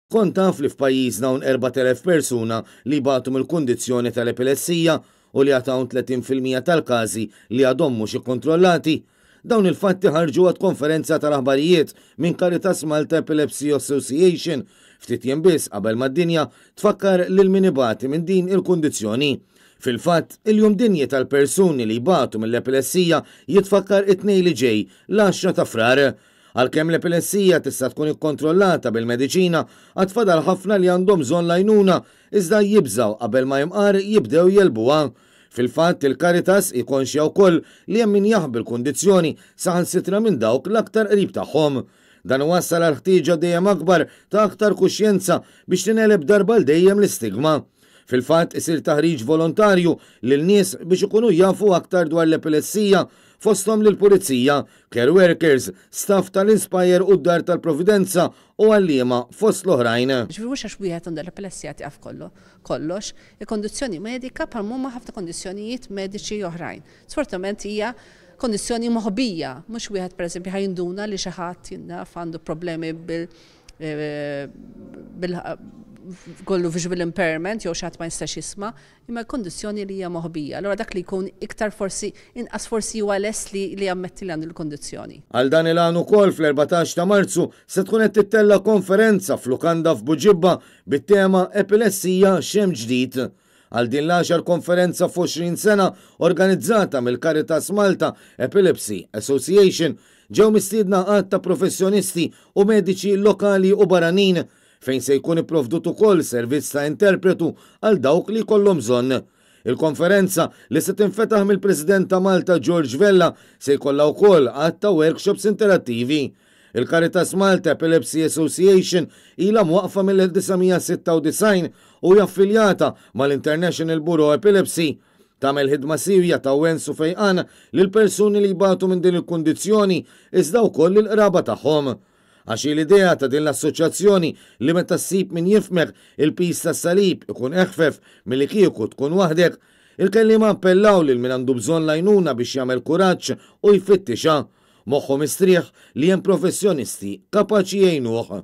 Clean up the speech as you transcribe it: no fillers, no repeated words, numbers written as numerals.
Kont taf li f'pajjiżna hawn 4,000 persuna li jbatu mill-kundizzjoni tal-epilessija u li għad hawn 30% tal-każi li għadhom mhux ikkontrollati? Dawn il-fatti ħarġu waqt konferenza tal-aħbarijiet minn Caritas Malta Epilepsy Association ftit jiem biss qabel ma d-dinja tfakkar lil min ibati minn din il-kundizzjoni. Fil-fatt, il-Jum Dinji tal-Persuni li jbatu mill-Epilessija jitfakkar it-Tnejn li ġej, l-għaxra ta' Frar. Għalkemm l-epilessija tista' tkun ikkontrollata bil-mediċina, għad fadal ħafna li għandhom bżonn l-għajnuna, iżda jibżgħu qabel ma imqar jibdew jegħlbuha. Fil-fatt, il-Caritas hi konxja wkoll li hemm min jaħbi l-kundizzjoni saħansitra minn dawk l-aktar qrib tagħhom. Dan iwassal għal ħtieġa dejjem akbar ta' aktar kuxjenza biex tingħeleb darba għal dejjem l-istigma. Fil-fatt, isir taħriġ volontarju lil nies biex ikunu jafu aktar dwar l-epilessija, fosthom lill-pulizija, care workers, staff tal-Inspire u d-Dar tal-Providenza u għalliema fost l-oħrajn. Ġifieri mhux għax wieħed għandu l-epilessija tieqaf kollox. Hi kondizzjoni medika bħalma huma ħafna kondizzjonijiet mediċi oħrajn. Sfortunatament hija kondizzjoni moħbija, mhux wieħed pereżempju ħa jinduna li xi ħadd naf għandu problemi bil bil kollu visual impairment jew xi ħadd ma jistax jisma', imma kondizzjoni li hija moħbija. Allura dak li jkun iktar forsi inqas forsi huwa lest li jammetti li għandu l-kondizzjoni. Għal dan il-għan ukoll fl-14 ta' Marzu se tkun qed tittella' konferenza f'lukanda f'Buġibba bit-tema Epilessija x'hemm ġdid. Għal din l-għaxar konferenza f'20 sena organizzata mill-Caritas Malta Epilepsy Association ġew mistiedna għadd ta' professjonisti u mediċi lokali u barranin fejn se jkun ipprovdut ukoll servizz ta' interpretu għal dawk li jkollhom bżonn. Il-konferenza, li se tinfetaħ mill-President ta' Malta George Vella, se jkollha wkoll għadd ta' workshops interattivi. Il-Caritas Malta Epilepsy Association ilha mwaqqfa mill-1996 u hija affiljata mal-International Bureau Epilepsy. Tagħmel ħidma siewja ta' wens u fejqan lil persuni li jbatu minn din il-kundizzjoni iżda wkoll lill-qraba tagħhom. Għax hi l-idea ta' din l-assoċjazzjoni li meta ssib min jifhmek, il-piż tas-salib ikun eħfef milli kieku tkun waħdek. Il-kelliema appellaw lil min għandu bżonn l-għajnuna biex jagħmel kuraġġ u jfittixha. Moħħu mistrieħ li hemm professjonisti kapaċi jgħinuh.